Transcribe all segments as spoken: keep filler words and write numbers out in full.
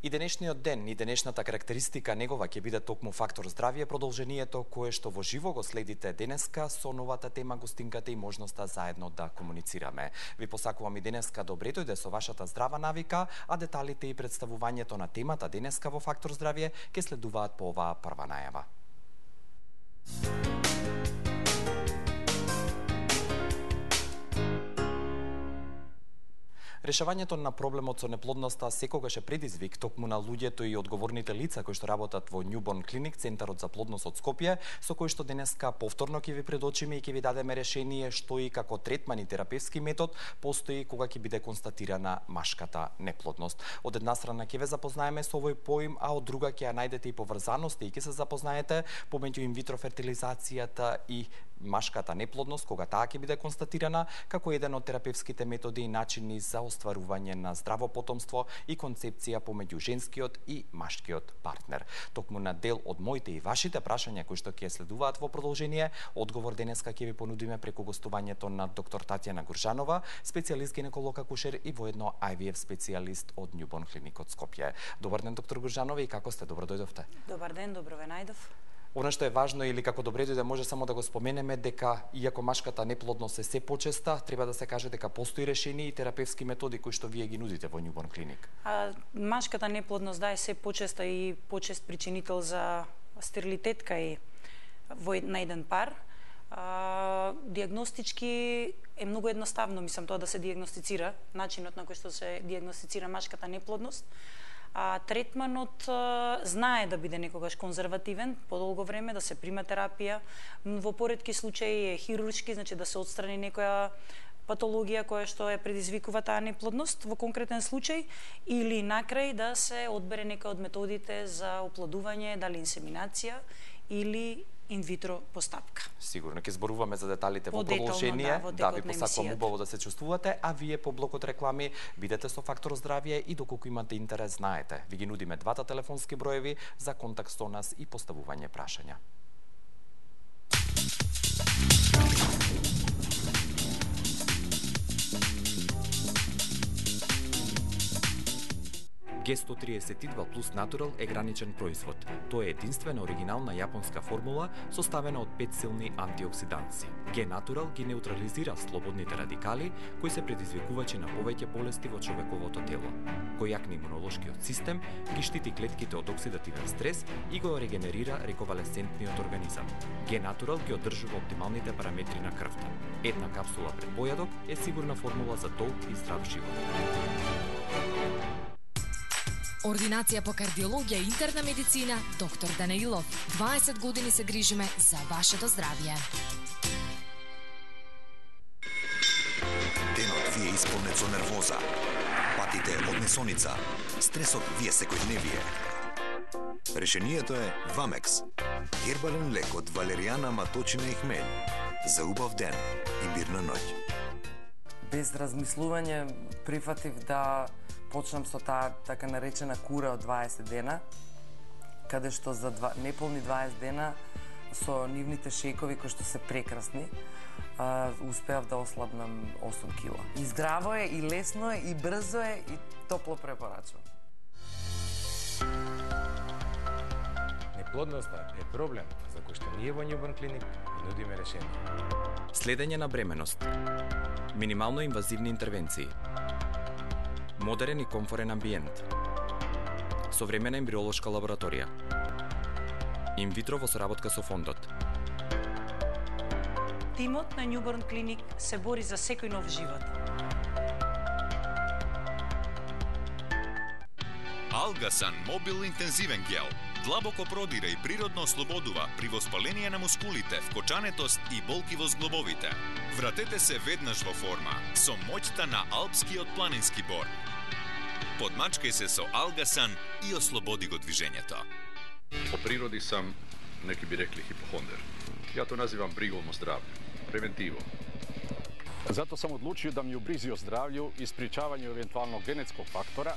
И денешниот ден и денешната карактеристика негова ќе биде токму фактор здравје, продолжението кое што во живо го следите денеска со новата тема, гостинката и можноста заедно да комуницираме. Ви посакувам и денеска добре дојде со вашата здрава навика, а деталите и представувањето на темата денеска во фактор здравје ќе следуваат по оваа прва најава. Решавањето на проблемот со неплодноста секогаш е предизвик токму на луѓето и одговорните лица кои што работат во Newborn Clinic, Центарот за плодност од Скопје, со кој што денеска повторно ќе ви предочиме и ќе ви дадеме решение што и како третман и терапевски метод постои кога ќе биде констатирана машката неплодност. Од една страна ќе ве запознаеме со овој поим, а од друга ќе ја најдете и поврзаности и ќе се запознаете помеѓу инвитро фертилизацијата и машката неплодност кога таа ќе биде констатирана како еден од терапевските методи и начини за остварување на здраво потомство и концепција помеѓу женскиот и машкиот партнер. Токму на дел од моите и вашите прашања кои што ќе следуваат во продолжение, одговор денеска ќе ви понудиме преку гостувањето на доктор Татјана Гуржанова, специјалист гинеколог акушер и воедно Ай Ви Еф специјалист од Newborn Clinic од Скопје. Добар ден, доктор Гуржанова, и како сте? Добро дојдовте. Добар ден, добро ве најдов. Оно што е важно или како добре дојде може само да го споменеме дека иако машката неплодност е се почеста, треба да се каже дека постои решение и терапевски методи кои што вие ги нудите во Newborn Clinic. А, машката неплодност да е се почеста и почест причинител за стерилитет кај во на еден пар. А, диагностички е многу едноставно, мислам, тоа да се диагностицира, начинот на кој што се диагностицира машката неплодност. А третманот а, знае да биде некогаш конзервативен, подолго време да се прима терапија, во поретки случаи е хируршки, значи да се отстрани некоја патологија која што е предизвикува таа неплодност во конкретен случај, или накрај да се одбере некоја од методите за оплодување, дали инсеминација или инвитро постапка. Сигурно ќе зборуваме за деталите во По-детално, продолжение. да, во Да, ви текот на посакувам емисијата. убаво да се чувствувате, а вие по блокот реклами бидете со фактор здравје и доколку имате интерес, знаете, ви ги нудиме двата телефонски броеви за контакт со нас и поставување прашања. Ге сто триесет и два плюс Natural е граничен производ. Тоа е единствена оригинална јапонска формула составена од пет силни антиоксиданци. Ге Natural ги неутрализира слободните радикали кои се предизвикувачи на повеќе болести во човековото тело. Кој јакне имунолошкиот систем, ги штити клетките од оксидативен стрес и го регенерира рековалесцентниот организам. Ге Natural ги одржува оптималните параметри на крвта. Една капсула пред појадок е сигурна формула за долг и здрав живот. Ординација по кардиологија и интерна медицина, доктор Данаилов. дваесет години се грижиме за вашето здравје. Денот ви е исполнет со нервоза, патите од несоница, стресот ви е секојдневие. Решението е Вамекс, гербален лек од валеријана, маточина и хмелј, за убав ден и мирна ноќ. Без размислување прифатив да почнам со таа така наречена кура од дваесет дена, каде што за два, неполни дваесет дена со нивните шекови кои што се прекрасни, а, успеав да ослабнам осум кила. И здраво е, и лесно е, и брзо е, и топло препорачувам. Неплодноста е проблем за кој што ние во Newborn Clinic нудиме решение. Следење на бременост. Минимално инвазивни интервенции. Модерен и комфорен амбиент. Современа ембриолошка лабораторија. Инвитро во соработка со фондот. Тимот на Newborn Clinic се бори за секој нов живот. Алгасан Мобил интензивен гел длабоко продира и природно ослободува при воспаление на мускулите, вкочанетост и болки во зглобовите. Вратете се веднаш во форма со моќта на алпскиот планински бор. Подмачкај се со Алгасан и ослободи го движењето. По природи сам, неки би рекли, хипохондер. Ја то називам бриголно здравје, превентиво. Зато сам одлучио да ми у бризи о здравју и спричавању евентуално генетскog фактора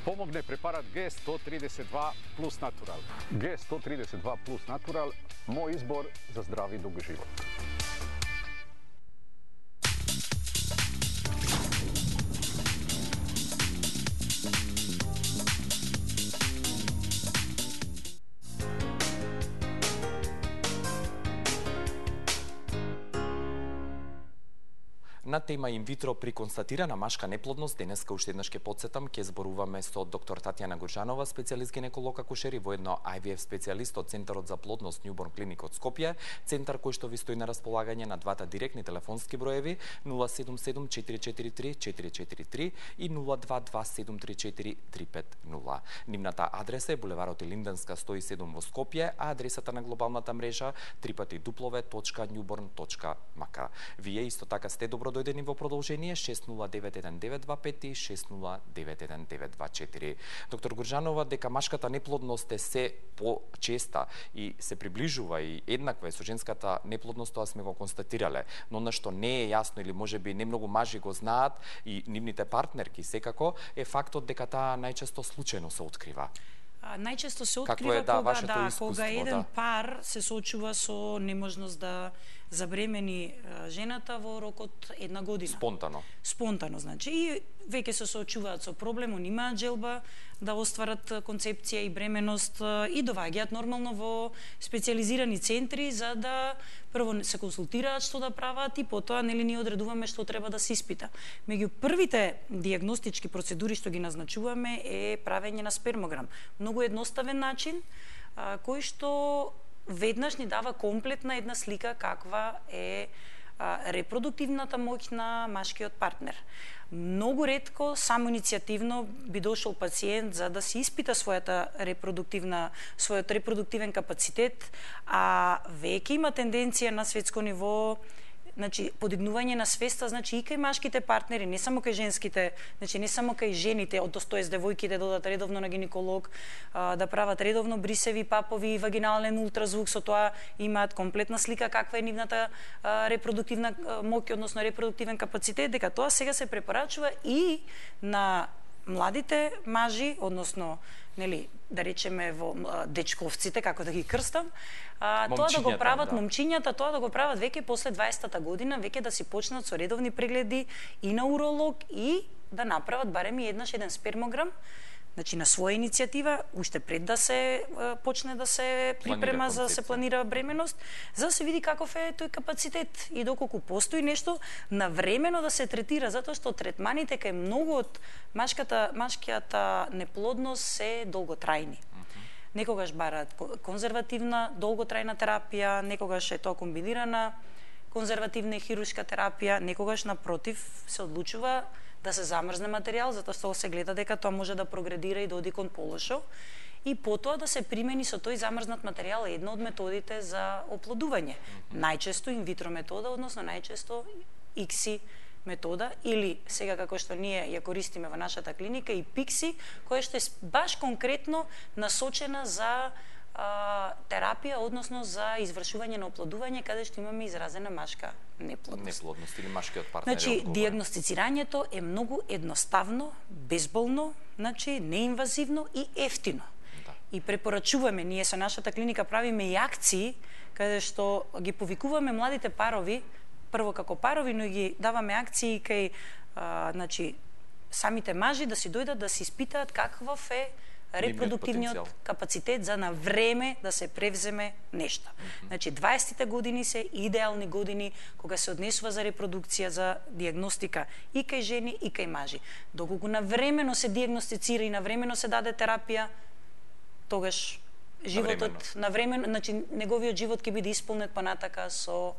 помогне препарат Ге сто тридесет два плюс Natural. Ге сто тридесет два плюс Natural, мој избор за здрави и дуг живот. На тема инвитро при констатирана машка неплодност, денеска уште еднаш ќе потсетам, ќе зборуваме со доктор Татјана Гурџанова, специјалист гинеколог акушер и воедно Ай Ви Еф специјалист од Центарот за плодност Newborn Clinic од Скопје, центар кој што ви стои на располагање на двата директни телефонски броеви нула седум седум четири четири три четири четири три и нула два два седум три четири три пет нула. Нивната адреса е булеварот Илинденска сто и седум во Скопје, а адресата на глобалната мрежа трипати дуплове точка newborn точка м к. Вие исто така сте добродојдени во продолжение шест нула девет еден девет два пет и шест нула девет еден девет два четири. Доктор Гурџанова, дека машката неплодност е се почеста и се приближува и еднаква е со женската неплодност, тоа сме го констатирале. Но на што не е јасно или можеби не многу мажи го знаат и нивните партнерки секако е фактот дека таа најчесто случајно се открива. А, најчесто се открива е, да, кога, да, кога еден да. пар се соочува со неможност да забремени жената во рокот една година. Спонтано. Спонтано, значи. И веќе се соочуваат со проблем, они имаат желба да остварат концепција и бременост и доваѓаат нормално во специјализирани центри за да прво се консултираат што да прават и потоа нели ние одредуваме што треба да се испита. Меѓу првите дијагностички процедури што ги назначуваме е правење на спермограм. Многу едноставен начин а, кој што веднаш ни дава комплетна една слика каква е а, репродуктивната моќ на машкиот партнер. Многу ретко, само иницијативно би дошол пациент за да се испита својата репродуктивна, својот репродуктивен капацитет, а веќе има тенденција на светско ниво, значи подигнување на свеста, значи и кај машките партнери, не само кај женските, значи не само кај жените, одностоес девојките да одат редовно на гинеколог, а, да прават редовно брисеви, папови, вагинален ултразвук, со тоа имаат комплетна слика каква е нивната а, репродуктивна моќ, односно репродуктивен капацитет, дека тоа сега се препорачува и на младите мажи, односно нели, да речеме во дечковците, како да ги крстам, а, тоа да го прават да. момчињата, тоа да го прават веќе после дваесетта година, веќе да си почнат со редовни прегледи и на уролог и да направат барем и еднаш еден спермограм, значи на своја иницијатива, уште пред да се почне да се припрема за да се планира бременост, за да се види каков е тој капацитет и доколку постои нешто навремено да се третира, затоа што третманите кај многу од машката, машкијата неплодност се долготрајни. Некогаш бараат конзервативна, долготрајна терапија, некогаш е тоа комбинирана конзервативна и хируршка терапија, некогаш напротив се одлучува да се замрзне материјал, затоа што се гледа дека тоа може да прогредира и да оди кон полошо, и потоа да се примени со тој замрзнат материјал една од методите за оплодување. Најчесто инвитро метода, односно најчесто икси метода, или сега како што ние ја користиме во нашата клиника и пикси, која што е баш конкретно насочена за а, терапија, односно за извршување на оплодување, каде што имаме изразена машка неплодност. Неплодност или машкиот партнер. Значи, дијагностицирањето е многу едноставно, безболно, значи неинвазивно и ефтино. Да. И препорачуваме, ние со нашата клиника правиме и акции, каде што ги повикуваме младите парови, прво како парови, но ги даваме акции кај а, значи, самите мажи да си дојдат да се испитаат каков е репродуктивниот капацитет за на време да се превземе нешто. Mm-hmm. Значи, дваесетте години се идеални години кога се однесува за репродукција, за дијагностика и кај жени и кај мажи. Доколку навремено се дијагностицира и навремено се даде терапија, тогаш животот навремено, значи неговиот живот ќе биде исполнет понатака со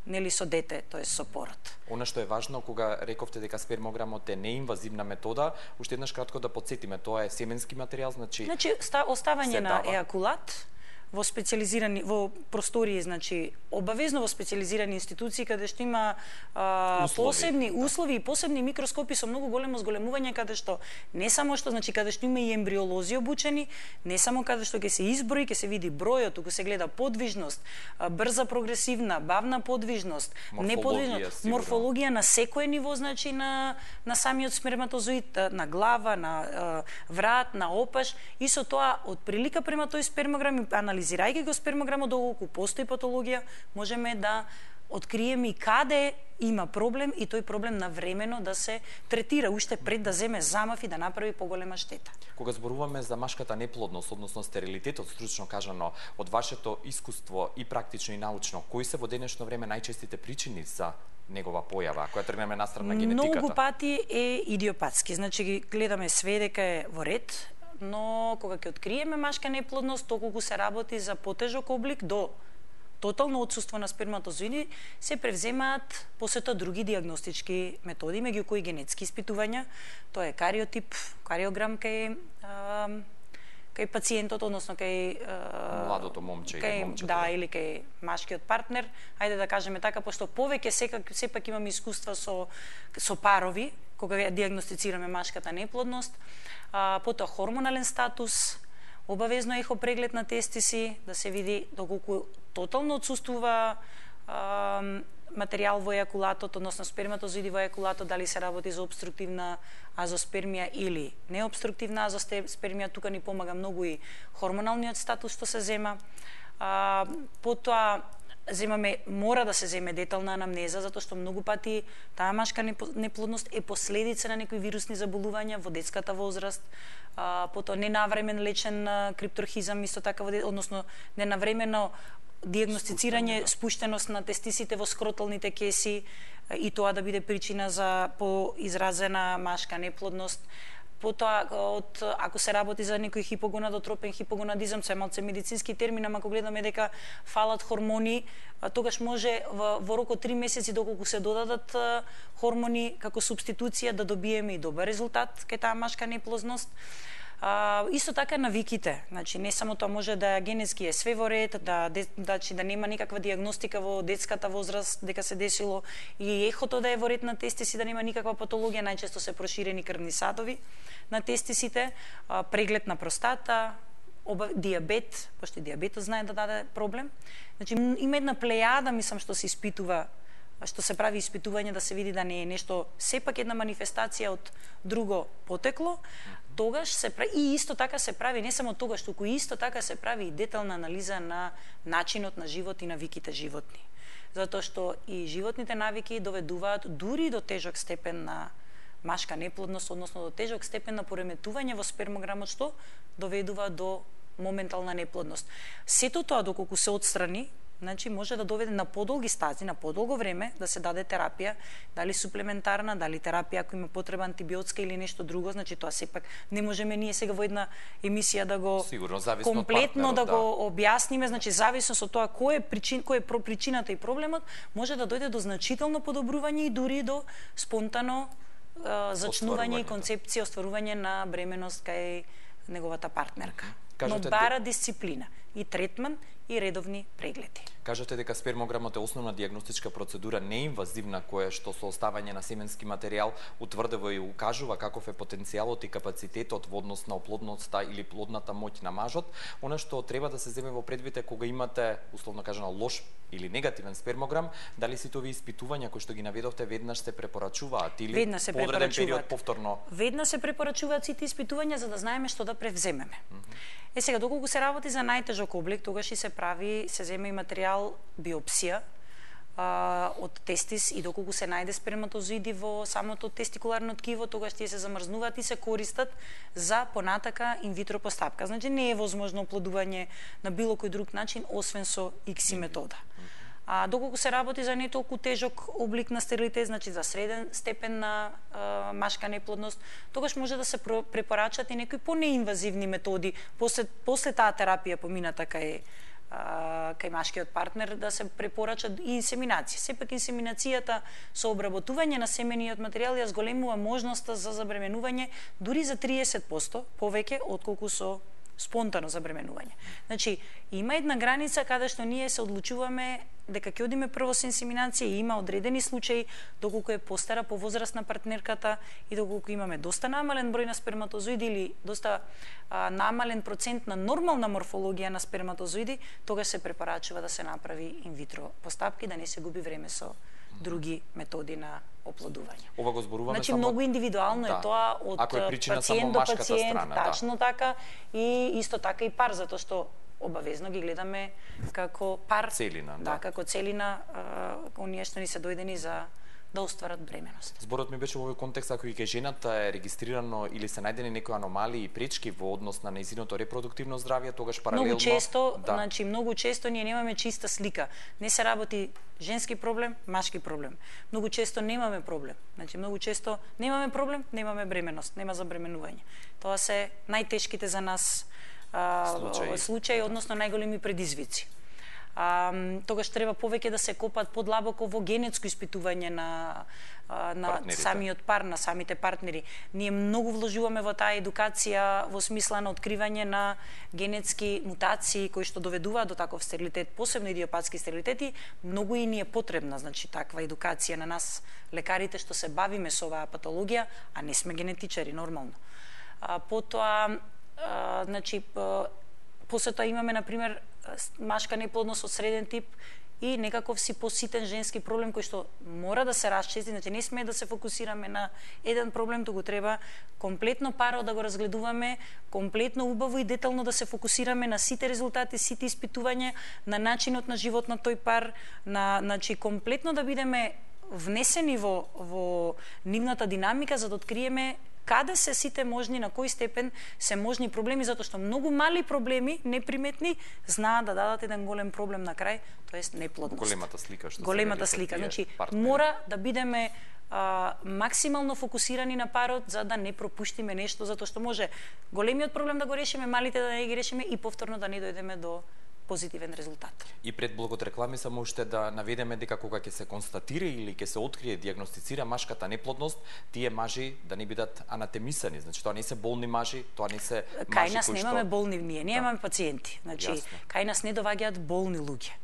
нели со дете, тоа со пород. Она што е важно, кога рековте дека спермограмот е неинвазивна метода, уште еднаш кратко да потсетиме, тоа е семенски материјал, значи Значи оставање на еакулат во специјализирани во простории, значи обавезно во специјализирани институции каде што има а, услови, посебни да. услови и посебни микроскопи со многу големо зголемување, каде што не само што значи каде што има и ембриолози обучени, не само каде што ќе се изброи, ќе се види бројот, туку се гледа подвижност, брза прогресивна, бавна подвижност, неподвижност, морфологија на секое ниво, значи на на самиот сперматозоид, на глава, на врат, на опаш, и со тоа од прилика према тој спермограм и анализ анализирајќи го спермограмот, доколку постои патологија, можеме да откриеме и каде има проблем и тој проблем навремено да се третира уште пред да земе замав и да направи поголема штета. Кога зборуваме за машката неплодност, односно стерилитетот, стручно кажано, од вашето искуство и практично и научно, кои се во денешно време најчестите причини за негова појава, која тргнеме настрана генетиката? Многу пати е идиопатски, значи ги гледаме све дека е во ред, но кога ќе откриеме машка неплодност, толку се работи за потежок облик до тотално отсуство на сперматозоиди, се превземаат после тоа други диагностички методи, меѓу кои генетски испитувања, тоа е кариотип, кариограм кај а, кај пациентот, односно кај а, младото момче кај, или момчето. Да, или кај машкиот партнер, ајде да кажеме така, пошто повеќе секак сепак имаме искуства со со парови кога ја диагностицираме машката неплодност, а, потоа хормонален статус, обавезно ехо преглед на тестиси, да се види доколку тотално отсуствува а, материјал во ејакулатот, односно сперматозоиди во ејакулатот, дали се работи за обструктивна азоспермија или необструктивна азоспермија. Тука ни помага многу и хормоналниот статус што се зема. А, потоа земаме, мора да се земе детална анамнеза, затоа што многу пати таа машка неплодност е последица на некои вирусни заболувања во детската возраст, а, потоа ненавремен лечен крипторхизам, исто така, односно ненавремено диагностицирање спуштеност на тестисите во скроталните кеси и тоа да биде причина за поизразена машка неплодност. Потоа, од, ако се работи за некој хипогонадотропен хипогонадизам, се малце медицински термин, ама ако гледаме дека фалат хормони, тогаш може во, во рок од три месеци, доколку се додадат хормони како субституција, да добиеме и добар резултат кај таа машка неплодност. А, исто така навиките, значи не само тоа, може да генетски е све во ред, да значи да нема никаква диагностика во детската возраст дека се десило, и ехото да е во ред на тестиси, да нема никаква патологија, најчесто се проширени крвни садови на тестисите, а, преглед на простата, оба, диабет, пошто диабетот знае да даде проблем. Значи има една плејада, мислам, што се испитува, што се прави испитување да се види да не е нешто, сепак една манифестација од друго потекло, тогаш се прави, и исто така се прави, не само тогаш, туку исто така се прави и детална анализа на начинот на живот и навиките животни. Затоа што и животните навики доведуваат дури до тежок степен на машка неплодност, односно до тежок степен на пореметување во спермограмот, што доведува до моментална неплодност. Сето тоа, доколку се отстрани, значи може да доведе на подолги стази, на подолго време, да се даде терапија, дали суплементарна, дали терапија ако има потреба антибиотска или нешто друго, значи тоа сепак не можеме ние сега во една емисија да го сигурно комплетно да го објасниме, значи зависно со тоа кој е причин, кој е причината и проблемот, може да дојде до значително подобрување и дури до спонтано uh, зачнување и концепција, остварување на бременост кај неговата партнерка. Кажете, но бара дисциплина и третман и редовни прегледи. Кажете дека спермограмот е основна диагностичка процедура неинвазивна која што со оставање на семенски материјал утврдува и укажува каков е потенцијалот и капацитетот во однос на оплодноста или плодната моќ на мажот. Она што треба да се земе во предвид е кога имате, условно кажано, лош или негативен спермограм, дали сите овие испитувања кои што ги наведовте веднаш се препорачуваат или по одреден период повторно? Веднаш се препорачуваат сите испитувања за да знаеме што да превземеме. Mm -hmm. Е сега, доколку се работи за најтежок облик, тогаш и се прави, се зема и материјал биопсија а, од тестис, и доколку се најде сперматозоиди во самото тестикуларно ткиво, тогаш тие се замрзнуваат и се користат за понатака инвитро постапка. Значи не е возможно оплодување на било кој друг начин освен со икси метода. А доколку се работи за не толку тежок облик на стерилитет, значи за среден степен на а, машка неплодност, тогаш може да се препорачат и некои понеинвазивни методи после после таа терапија помината кај а, кај машкиот партнер, да се препорачат и инсеминација. Сепак инсеминацијата со обработување на семениот материјал ја зголемува можноста за забременување дури за триесет проценти повеќе отколку со спонтано забременување. Значи, има една граница каде што ние се одлучуваме дека ќе одиме прво со инсеминација, и има одредени случаи доколку е постара, повозрастна партнерката и доколку имаме доста намален број на сперматозоиди или доста а, намален процент на нормална морфологија на сперматозоиди, тогаш се препорачува да се направи инвитро постапки, да не се губи време со други методи на оплодување. Ова го зборуваме значи, само... многу индивидуално да. е тоа од е пациент до пациент, страна, тачно да. така, и исто така и пар, затоа што обавезно ги гледаме како пар, целина, да, да. како целина, оние што ни се дојдени за да остварат бременост. Зборот ми беше во овој контекст, ако и кај жената е регистрирано или се најдени некои аномалии и пречки во однос на нејзиното репродуктивно здравје, тогаш паралелно... Многу често, да. значи, многу често ние немаме чиста слика. Не се работи женски проблем, машки проблем. Многу често немаме проблем. Значи, многу често немаме проблем, немаме бременост, нема забременување. Тоа се најтешките за нас а, случаи, случаи односно најголеми предизвици. А, тогаш треба повеќе да се копат подлабоко во генетско испитување на, на самиот пар, на самите партнери. Ние многу вложуваме во таа едукација во смисла на откривање на генетски мутации кои што доведуваат до таков стерилитет, посебно идиопатски стерилитети. Многу и ни е потребна, значи, таква едукација на нас, лекарите што се бавиме со оваа патологија, а не сме генетичари, нормално. А, потоа, а, значи, после тоа имаме, например, машка неплодност од среден тип и некаков си поситен женски проблем кој што мора да се расчисти, значи не сме да се фокусираме на еден проблем, туку треба комплетно паро да го разгледуваме, комплетно убаво и детално да се фокусираме на сите резултати, сите испитувања, на начинот на живот на тој пар, на, значи комплетно да бидеме внесени во, во нивната динамика за да откриеме каде се сите можни, на кој степен се можни проблеми, затоа што многу мали проблеми, неприметни, знаат да дадат еден голем проблем на крај, тоест неплодност. Големата слика што Големата слика, значи партнери. Мора да бидеме а, максимално фокусирани на парот за да не пропуштиме нешто, затоа што може големиот проблем да го решиме, малите да не ги решиме и повторно да не дојдеме до позитивен резултат. И пред блогот реклами само уште да наведеме дека кога ќе се констатира или ќе се открие, диагностицира машката неплодност, тие мажи да не бидат анатемисани, значи тоа не се болни мажи, тоа не се мажи кои што... Кај нас немаме болни, ние немаме да. Пациенти, значи Јасно. Кај нас не доваѓаат болни луѓе.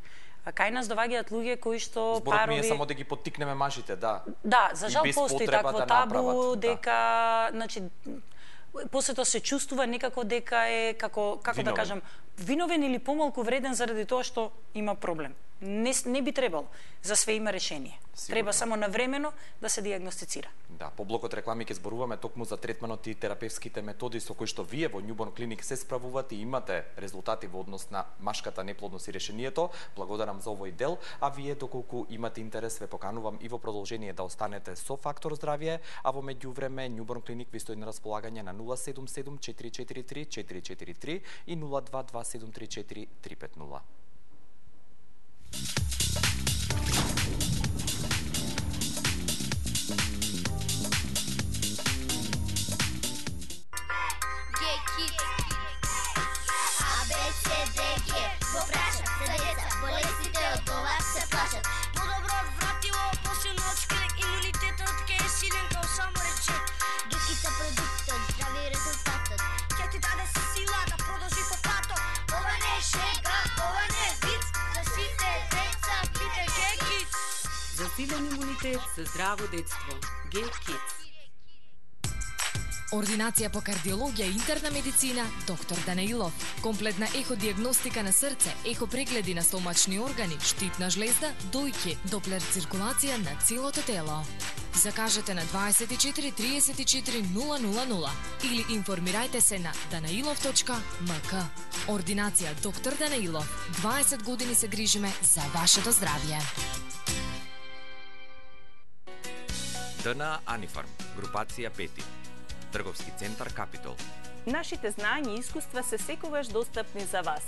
А кај нас доваѓаат луѓе кои што Зборот парови... ми е само да ги поттикнеме мажите, да. Да, за жал постои такво да табу, направат, дека, да. Значи, после тоа се чувствува некако дека е, како, како виновен. Да кажам, виновен или помалку вреден заради тоа што има проблем. Не, не би требало. За све има решение. Сигурно. Треба само навремено да се диагностицира. Да, по блокот реклами ќе зборуваме токму за третманот и терапевските методи со кои што вие во Newborn Clinic се справувате и имате резултати во однос на машката неплодност и решението. Благодарам за овој дел, а вие доколку имате интерес ве поканувам и во продолжение да останете со Фактор здравје, а во меѓувреме Newborn Clinic ви стои на располагање на нула седум седум четири четири три четири четири три и нула два два седум три четири три пет нула. Засилен имунитет за здраво детство. Г-Kids. Ординација по кардиологија и интерна медицина, доктор Данаилов. Комплетна еходиагностика на срце, ехопрегледи на стомачни органи, штитна жлезда, дојки, доплер циркулација на целото тело. Закажете на дваесет и четири триесет и четири нула нула нула или информирајте се на данаилов точка ем ка. Ординација доктор Данаилов. дваесет години се грижиме за вашето здравје. ДНА Анифарм, групација пети. Трговски центар Капитол. Нашите знаења и искуства се секогаш достапни за вас.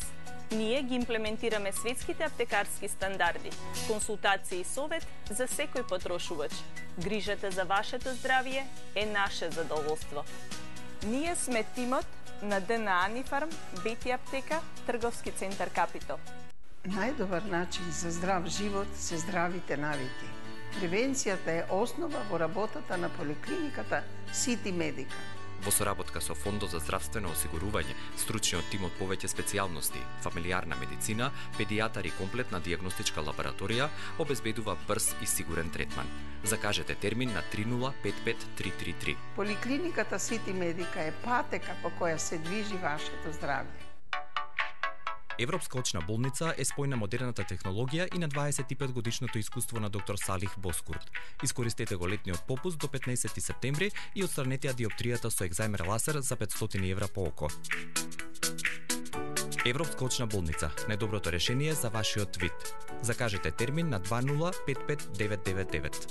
Ние ги имплементираме светските аптекарски стандарди, консултација и совет за секој потрошувач. Грижата за вашето здравје е наше задоволство. Ние сме тимот на ДНА Анифарм, Бети аптека, Трговски центар Капитол. Најдобар начин за здрав живот се здравите навики. Превенцијата е основа во работата на поликлиниката Сити Медика. Во соработка со Фондот за здравствено осигурување, стручниот тим од повеќе специјалности, фамилиарна медицина, педијатар и комплетна дијагностичка лабораторија обезбедува брз и сигурен третман. Закажете термин на три нула пет пет три три три. Поликлиниката Сити Медика е патека по која се движи вашето здравје. Европска очна болница е спој на модерната технологија и на дваесет и пет годишното искуство на доктор Салих Боскурт. Искористете го летниот попуст до петнаесети септември и отстранете ја диоптријата со екзаймер лазер за петстотини евра по око. Европска очна болница, најдоброто решение за вашиот вид. Закажете термин на два нула пет пет девет девет девет.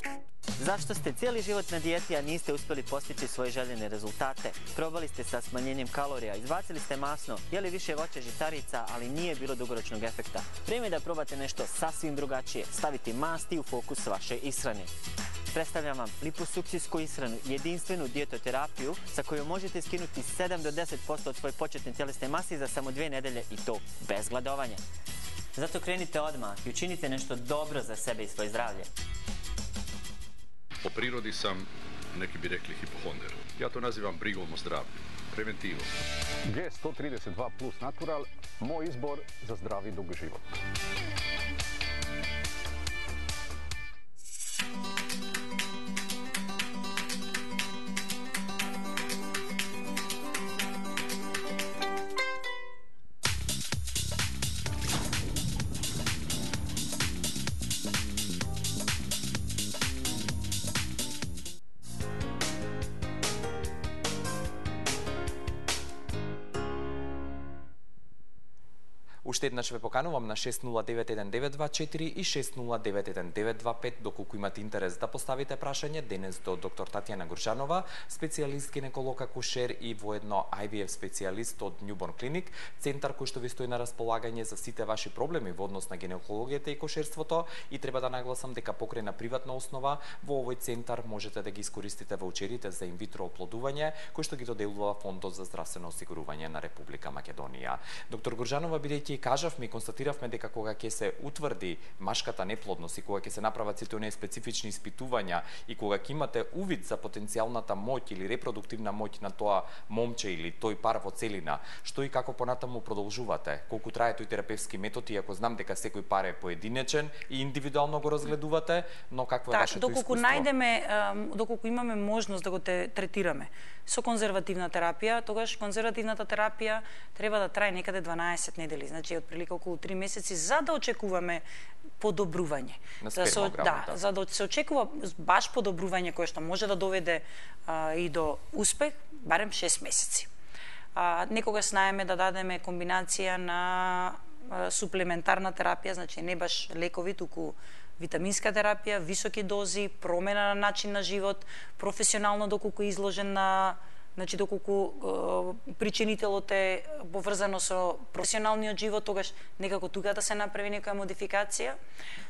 Zašto ste cijeli život na dijeti, a niste uspjeli postići svoje željene rezultate? Probali ste sa smanjenjem kalorija, izbacili ste masno, jeli više voća žitarica, ali nije bilo dugoročnog efekta. Vrijeme je da probate nešto sasvim drugačije, staviti masti u fokus vaše ishrane. Predstavljam vam liposukcijsku ishranu, jedinstvenu dijetoterapiju sa kojom možete skinuti sedam do deset posto od svoje početne tjelesne mase za samo dvije nedelje i to bez gladovanja. Zato krenite odmah i učinite nešto dobro za sebe i svoje zdravlje. Po prirodi sam, neki bi rekli, hipohonder. Ja to nazivam brigom o zdravlju, preventivom. G sto trideset dva plus Natural, moj izbor za zdrav i dug život. Уште еднаш ве поканувам на шест нула девет еден девет два четири и шест нула девет еден девет два пет доколку имате интерес да поставите прашање денес до доктор Татјана Гуршанова, специјалист гинеколог акушер и воедно Ай Ви Еф специјалист од Newborn Clinic, центар кој што ви стои на располагање за сите ваши проблеми во однос на гинекологијата и кошерството, и треба да нагласам дека покрај на приватна основа во овој центар можете да ги искористите ваучерите за инвитро оплодување кој што ги доделува Фондот за здравствено осигурување на Република Македонија. Доктор Гуршанова, бидејќи кажавме и констатиравме дека кога ќе се утврди машката неплодност и кога ќе се направат сите оние специфични испитувања и кога ќе имате увид за потенцијалната моќ или репродуктивна моќ на тоа момче или тој пар во целина, што и како понатаму продолжувате? Колку трае тој терапевски метод, иако знам дека секој пар е поединечен и индивидуално го разгледувате, но какво е так, вашето доколку искуство? најдеме, доколку имаме можност да го те третираме со конзервативна терапија, тогаш конзервативната терапија треба да трае некаде дванаесет недели, значи отприлика околу три месеци, за да очекуваме подобрување. На да, со, да, да, за да се очекува баш подобрување кое што може да доведе а, и до успех, барем шест месеци. А, некогаш знаеме да дадеме комбинација на а, суплементарна терапија, значи не баш лекови, туку витаминска терапија, високи дози, промена на начин на живот, професионално доколку е изложен на, значи доколку е, причинителот е поврзано со професионалниот живот, тогаш некако тука да се направи некоја модификација.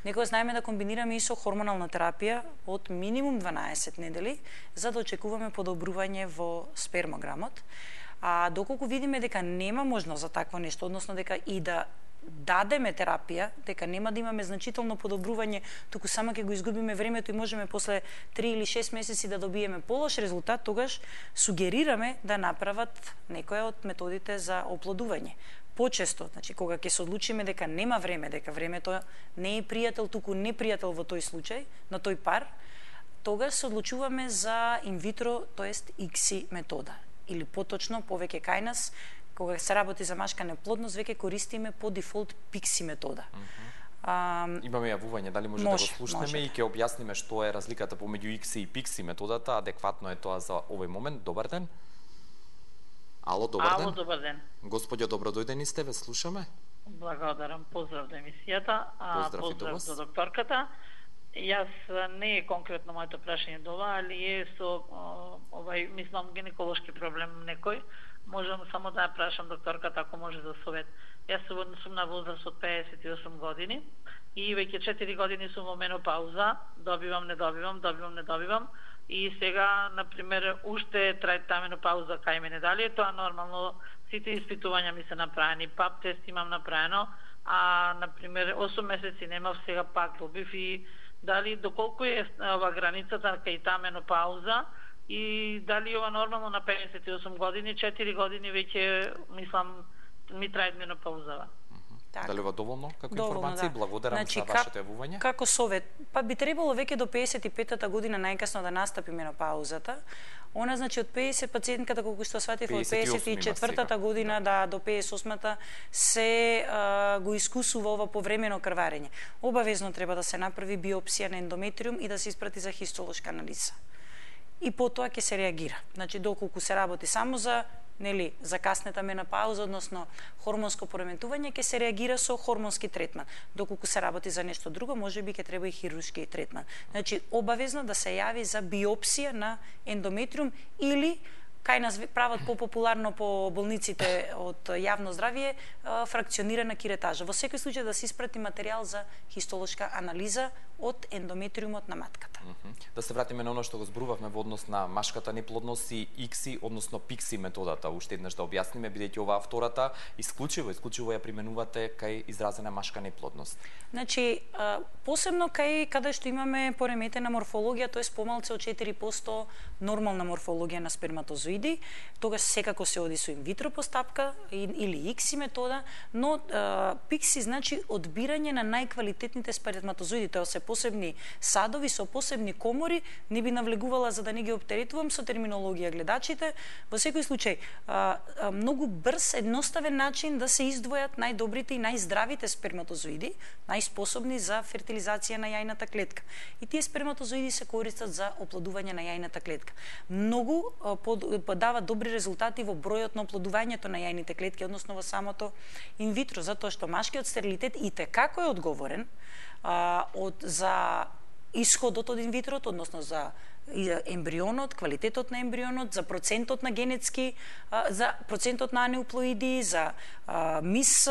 Некоја знаеме да комбинираме и со хормонална терапија од минимум дванаесет недели, за да очекуваме подобрување во спермограмот. А доколку видиме дека нема можност за такво нешто, односно дека и да дадеме терапија, дека нема да имаме значително подобрување, туку само ќе го изгубиме времето и можеме после три или шест месеци да добиеме полош резултат, тогаш сугерираме да направат некоја од методите за оплодување. Почесто, значи кога ќе се одлучиме дека нема време, дека времето не е пријател, туку непријател во тој случај, на тој пар, тогаш се одлучуваме за инвитро, тоест икс и метода. Или поточно, повеќе кај нас, кога се работи за машка неплодност, веќе користиме по дефолт пикси метода. Mm-hmm. а, Имаме јавување, дали може, може да го слушнеме може. И ќе објасниме што е разликата помеѓу икси и пикси методата, адекватно е тоа за овој момент. Добар ден. Ало, добар ден. Ало, добар ден. Господјо, добродојдени сте, ве слушаме. Благодарам, поздрав до емисијата, а поздрав, поздрав до, до докторката. Јас не е конкретно моето прашање до ова, али е со овај, мислам, гинеколошки проблем некој. Можам само да ја прашам докторката ако може за совет. Јас сум на возраст од пеесет и осум години и веќе четири години сум во менопауза, добивам, не добивам, добивам, не добивам и сега, например, уште трае таа менопауза кај мене. Дали е тоа нормално? Сите испитувања ми се направени, пап тест имам направено, а, например, осум месеци немав, сега пак добив и дали доколку е ова границата кај таа менопауза и дали ова нормално на пеесет и осум години, четири години веќе, мислам, ми трае менопаузава. Так. Дали ова доволно како доволно, информација? да. Благодарам значи, за вашето јавување. Како совет, па би требало веќе до пеесет и петата година најкасно да настапи менопаузата. Она значи од пеесет пациентката колку што сватив од пеесет и четвртата година да. да до пеесет и осмата се а, го искусува ова повремено крварење. Обавезно треба да се направи биопсија на ендометриум и да се испрати за хистолошка анализа. и потоа ќе се реагира. Значи доколку се работи само за нели за каснета менопауза, односно хормонско пореметување, ќе се реагира со хормонски третман. Доколку се работи за нешто друго, можеби ќе треба и хируршки третман. Значи обавезно да се јави за биопсија на ендометриум или кај нас прават попопуларно по болниците од јавно здравје фракционирана киретажа. Во секој случај да се испрати материјал за хистолошка анализа од ендометриумот на матката. Mm -hmm. Да се вратиме на оно што го зборувавме во однос на машката неплодност и икси, односно пикси методата. Уште еднаш да објасниме, бидејќи оваа втората исклучиво, исклучиво ја применувате кај изразена машка неплодност. Значи, посебно кај каде што имаме пореметена морфологија, тоест помалце од четири проценти нормална морфологија на сперматозоиди, тогаш секако се оди со инвитро постапка или икси метода, но пикси значи одбирање на најквалитетните сперматозоиди, тоа се посебни садови со посебни комори, не би навлегувала за да не ги оптеретувам со терминологија гледачите. Во секој случај, а, а, многу брз, едноставен начин да се издвојат најдобрите и најздравите сперматозоиди, најспособни за фертилизација на јајната клетка. И тие сперматозоиди се користат за оплодување на јајната клетка. Многу а, под, подават добри резултати во бројот на оплодувањето на јајните клетки, односно во самото инвитро, затоа што машкиот стерилитет и те како е одговорен а, од за исходот од инвитрото, односно за ембрионот, квалитетот на ембрионот, за процентот на генетски, за процентот на анеуплоиди, за мис,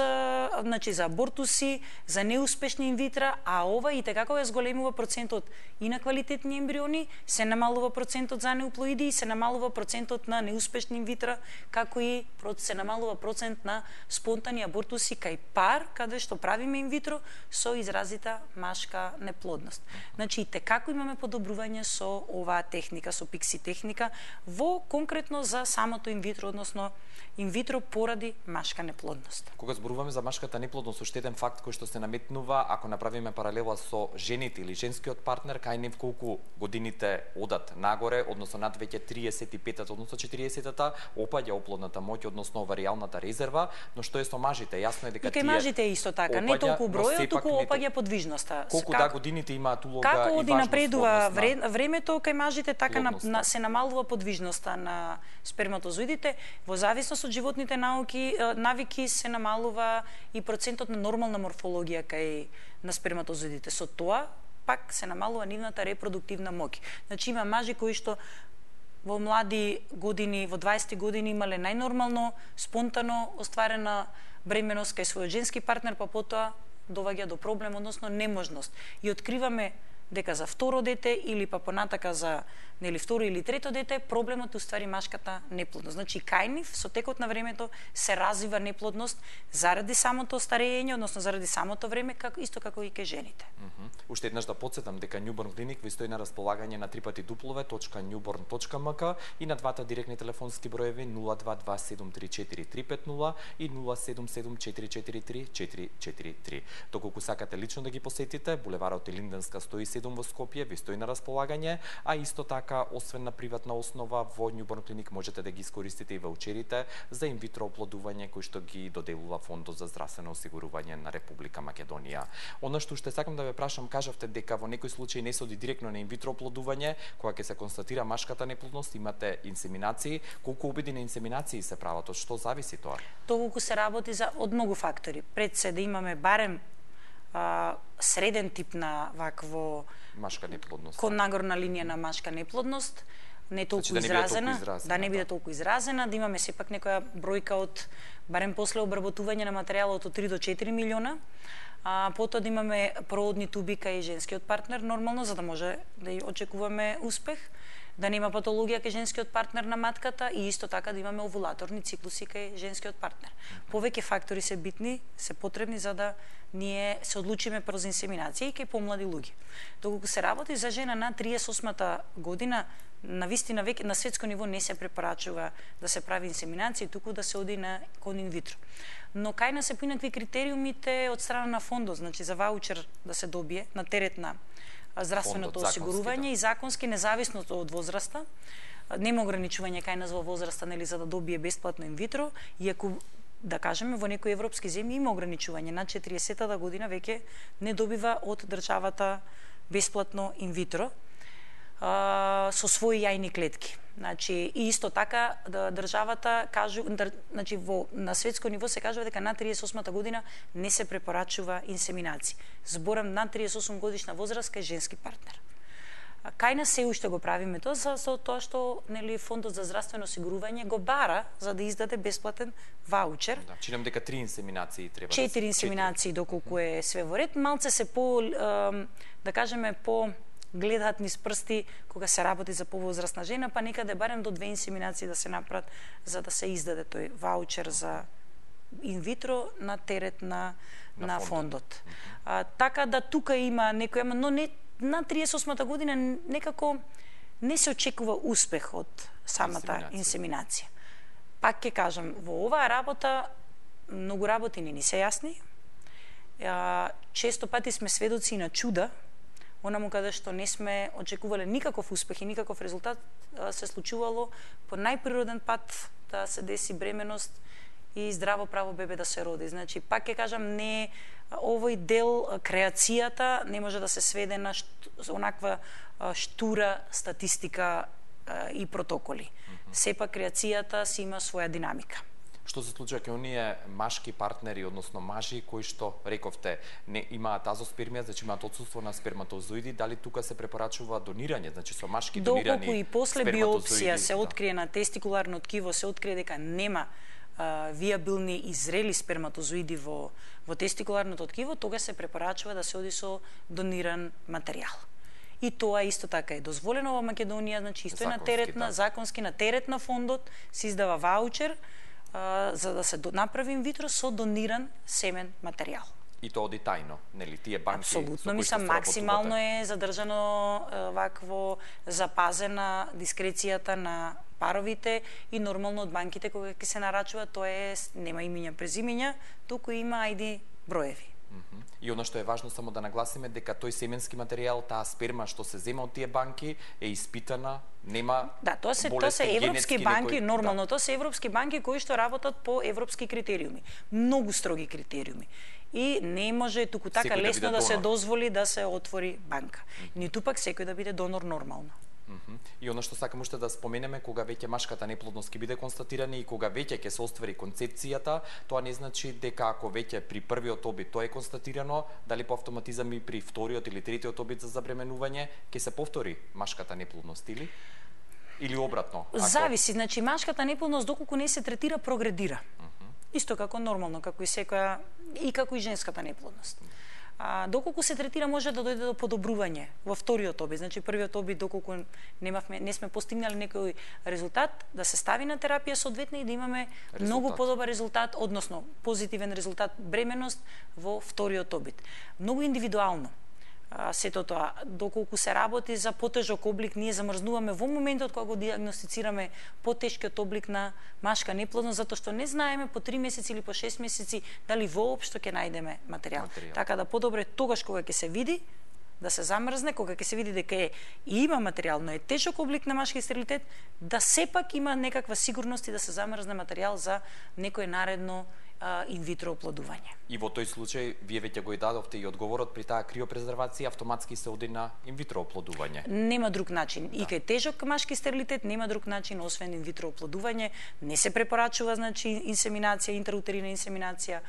значи за абортуси, за неуспешни инвитра, а ова и така кога зголемува процентот и на квалитетни ембриони, се намалува процентот за анеуплоиди и се намалува процентот на неуспешни инвитра, како и се намалува процент на спонтани абортуси кај пар, каде што правиме инвитро со изразита машка неплодност. Значи и така имаме подобрување со оваа техника, со пикси техника, во конкретно за самото инвитро, односно инвитро поради машка неплодност. Кога зборуваме за машката неплодност, уште еден факт кој што се наметнува, ако направиме паралела со жените или женскиот партнер, кај нив колку годините одат нагоре, односно над веќе триесет и пет, односно четириесет, опаѓа оплодната моќ, односно оваријалната резерва, но што е со мажите? Јасно е дека и кај мажите е исто така, не толку бројот, туку опаѓа подвижноста. Колку да годините имаат улога како и оди напредува времето кај мажите, така на, плодността. на, се намалува подвижноста на сперматозоидите. Во зависност од животните науки, навики се намалува и процентот на нормална морфологија кај на сперматозоидите. Со тоа пак се намалува нивната репродуктивна моќ. Значи има мажи кои што во млади години, во дваесет години имале најнормално, спонтано остварена бременост кај својот женски партнер, па потоа доваѓа до проблем, односно неможност. И откриваме дека за второ дете или па понатака за нели второ или трето дете, проблемот уствари машката неплодност. Значи кај нив со текот на времето се развива неплодност заради самото старење, односно заради самото време, како исто како и кај жените. Mm -hmm. Уште еднаш да потсетам дека Newborn Clinic ви стои на располагање на три пати дуплове точка newborn точка m k и на двата директни телефонски броеви нула два два седум три четири три пет нула и нула седум седум четири четири три четири четири три. Доколку сакате лично да ги посетите, булеварот Илинденска сто и седум во Скопје ви стои на располагање, а исто така освен на приватна основа во Newborn Clinic можете да ги искористите и ваучерите за инвитро оплодување кои што ги доделува Фондот за здравствено осигурување на Република Македонија. Она што ще сакам да ве прашам, кажавте дека во некој случај не се оди директно на инвитро оплодување, кога ќе се констатира машката неплодност, имате инсеминации. Колку обиди на инсеминации се прават? Од што зависи тоа? Толку се работи за од многу фактори. Пред се да имаме барем а, среден тип на вакво машка неплодност. Кон нагорна линија на машка неплодност, не толку значи, да изразена, не изразена, да не биде толку изразена, да имаме сепак некоја бројка од барем после обработување на материјалот од три до четири милиона. А, потоа да имаме проводни туби кај женскиот партнер нормално, за да може да ја очекуваме успех, да нема патологија кај женскиот партнер на матката и исто така да имаме овулаторни циклуси кај женскиот партнер. Повеќе фактори се битни, се потребни за да ние се одлучиме прз инсеминација и кај помлади луѓе. Доколку се работи за жена на триесет и осма година, на вистина веќе на светско ниво не се препорачува да се прави инсеминација, туку да се оди на кон инвитро. Но кај нас се поинакви критериумите од страна на фондот, значи за ваучер да се добие на терет на здравственото осигурување и законски независно од возраста. Нема ограничување кај нас во возраста, нели, за да добие бесплатно инвитро, иако да кажеме во некои европски земји има ограничување, на четириесета година веќе не добива од државата бесплатно инвитро. а, со своји јајни клетки. Значи, и исто така да, државата кажу, дар, значи во на светско ниво се кажува дека на триесет и осма година не се препорачува инсеминација. Зборам на триесет и осум годишна возраст кај женски партнер. А кај нас се уште го правиме тоа за, за тоа што нели фондот за здравствено осигурување го бара за да издаде бесплатен ваучер. Да, чинам дека три инсеминации треба. Четири инсеминации доколку е све во ред, малце се по да кажеме по гледаат низ прсти кога се работи за повозрастна жена, па некаде барем до две инсеминации да се направат за да се издаде тој ваучер за инвитро на терет на на, на фондот. фондот. А, така да тука има некој, но не на триесет и осмата година некако не се очекува успех од самата инсеминација. инсеминација. Пак ќе кажам, во оваа работа многу работи не ни се јасни. А, често пати сме сведоци на чуда, онаму каде што не сме очекувале никаков успех и никаков резултат, се случувало по најприроден пат да се деси бременост и здраво право бебе да се роди. Значи, пак ќе кажам, не овој дел, креацијата, не може да се сведе на шт, онаква штура статистика и протоколи. Mm-hmm. Сепак креацијата си има своја динамика. Што се случува кај оние машки партнери, односно мажи кои што рековте не имаат азоспермија, значи имаат отсуство на сперматозоиди, дали тука се препорачува донирање, значи со машки донирани доколку и после биопсија се открие на тестикуларно ткиво, се открие дека нема а, виабилни и зрели сперматозоиди во во тестикуларното ткиво, тога се препорачува да се оди со дониран материјал. И тоа исто така е дозволено во Македонија, значи исто е на терет на законски на терет на фондот се издава ваучер а, за да се до, направи инвитро со дониран семен материјал. И тоа оди тајно, нели? Тие банки апсолутно, мислам, максимално е задржано вакво запазена дискрецијата на паровите и нормално од банките кога ќе се нарачува, тоа е нема имиња, презимиња, туку има ајди броеви. Mm-hmm. И оно што е важно само да нагласиме дека тој семенски материјал, таа сперма што се зема од тие банки е испитана, нема да, тоа се тоа се европски банки, некој... нормално, да. Тоа се европски банки кои што работат по европски критериуми, многу строги критериуми. И не може туку така секој лесно да, да се дозволи да се отвори банка. Mm-hmm. Ниту пак секој да биде донор нормално. Mm-hmm. И оно што сакам уште да споменеме, кога веќе машката неплодност ќе биде констатирана и кога веќе ќе се оствари концепцијата, тоа не значи дека ако веќе при првиот обид тоа е констатирано, дали по автоматизам и при вториот или третиот обид за забременување ќе се повтори машката неплодност или или обратно? Ако... Зависи, значи машката неплодност доколку не се третира прогредира. Mm-hmm. Исто како нормално, како и секоја и како и женската неплодност. А, доколку се третира може да дојде до подобрување во вториот обид. Значи првиот обид доколку немавме не сме постигнали некој резултат, да се стави на терапија соодветно и да имаме резултат. Многу подобар резултат, односно позитивен резултат бременост во вториот обид. Многу индивидуално. А, сето тоа, доколку се работи за потежок облик, ние замрзнуваме во моментот кога го диагностицираме потешкиот облик на машка неплодност, затоа што не знаеме по три месеци или по шест месеци дали воопшто ќе најдеме материјал. материјал. Така да подобре тогаш кога ќе се види, да се замрзне, кога ќе се види дека е и има материјал, но е тешок облик на машки стерилитет, да сепак има некаква сигурност и да се замрзне материјал за некој наредно инвитро оплодување. И во тој случај, вие веќе го и дадовте и одговорот, при таа криопрезервација автоматски се оди на инвитро оплодување. Нема друг начин. Да. И кај тежок машки стерилитет нема друг начин освен инвитро оплодување. Не се препорачува, значи, инсеминација, интраутерина инсеминација.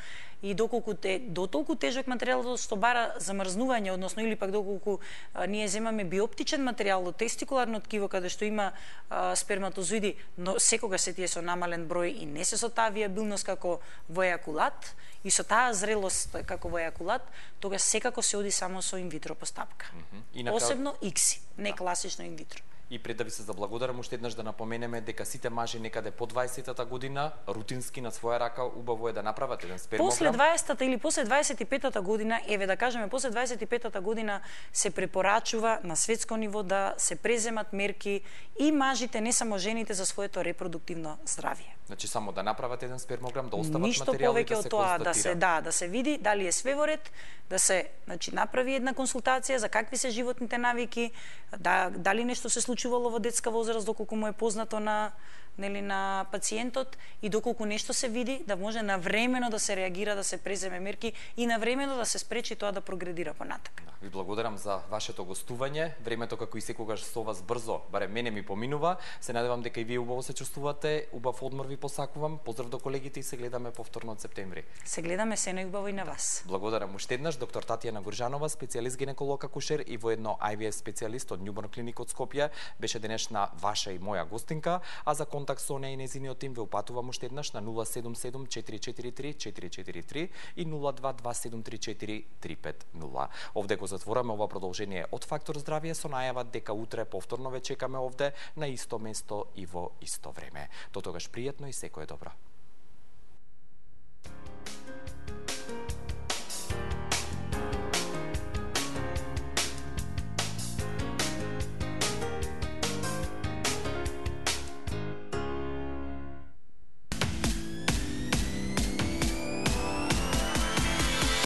И доколку е до толку тежок материјал што бара замрзнување, односно или пак доколку а, ние земаме биоптичен материјал од тестикуларно ткиво каде што има а, сперматозоиди, но секогаш се тие со намален број и не се со таа виабилност како во ејакулат и со таа зрелост како во ејакулат, тогаш секако се оди само со инвитро постапка. Mm-hmm. И на посебно икси, не да. Класично инвитро. И пред да ви се заблагодарам уште еднаш да напоменеме дека сите мажи некаде по дваесетата година рутински на своја рака убаво е да направат еден спермограм. После дваесетата или после дваесет и петата година, еве да кажеме после дваесет и петата година се препорачува на светско ниво да се преземат мерки и мажите, не само жените, за своето репродуктивно здравје. Значи само да направат еден спермограм, да остават ништо материјал и да се тоа, да се да, да се види дали е све во ред, да се, значи, направи една консултација за какви се животните навики, да дали нешто се случувало во детска возраст доколку му е познато на нели на пациентот и доколку нешто се види, да може навремено да се реагира, да се преземе мерки и навремено да се спречи тоа да прогредира понатака. Да. Ви благодарам за вашето гостување. Времето како и секогаш со вас брзо, барем мене ми поминува. Се надевам дека и вие убаво се чувствувате. Убав одмор ви посакувам. Поздрав до колегите и се гледаме повторно од септември. Се гледаме се најубаво и на вас. Благодарам уште еднаш доктор Татјана Гуржанова, специјалист гинеколог акушер и воедно Ай Ви Еф специјалист од Newborn Clinic од Скопје, беше денешна ваша и моја гостинка, а за контакт со неја и незиниот тим ве упатувам уште еднаш на нула седум седум четири четири три четири четири три и нула два два седум три четири три пет нула. Овде го затвораме ова продолжение од Фактор здравје со најава дека утре повторно ве чекаме овде на исто место и во исто време. До тогаш пријатно и секое добро.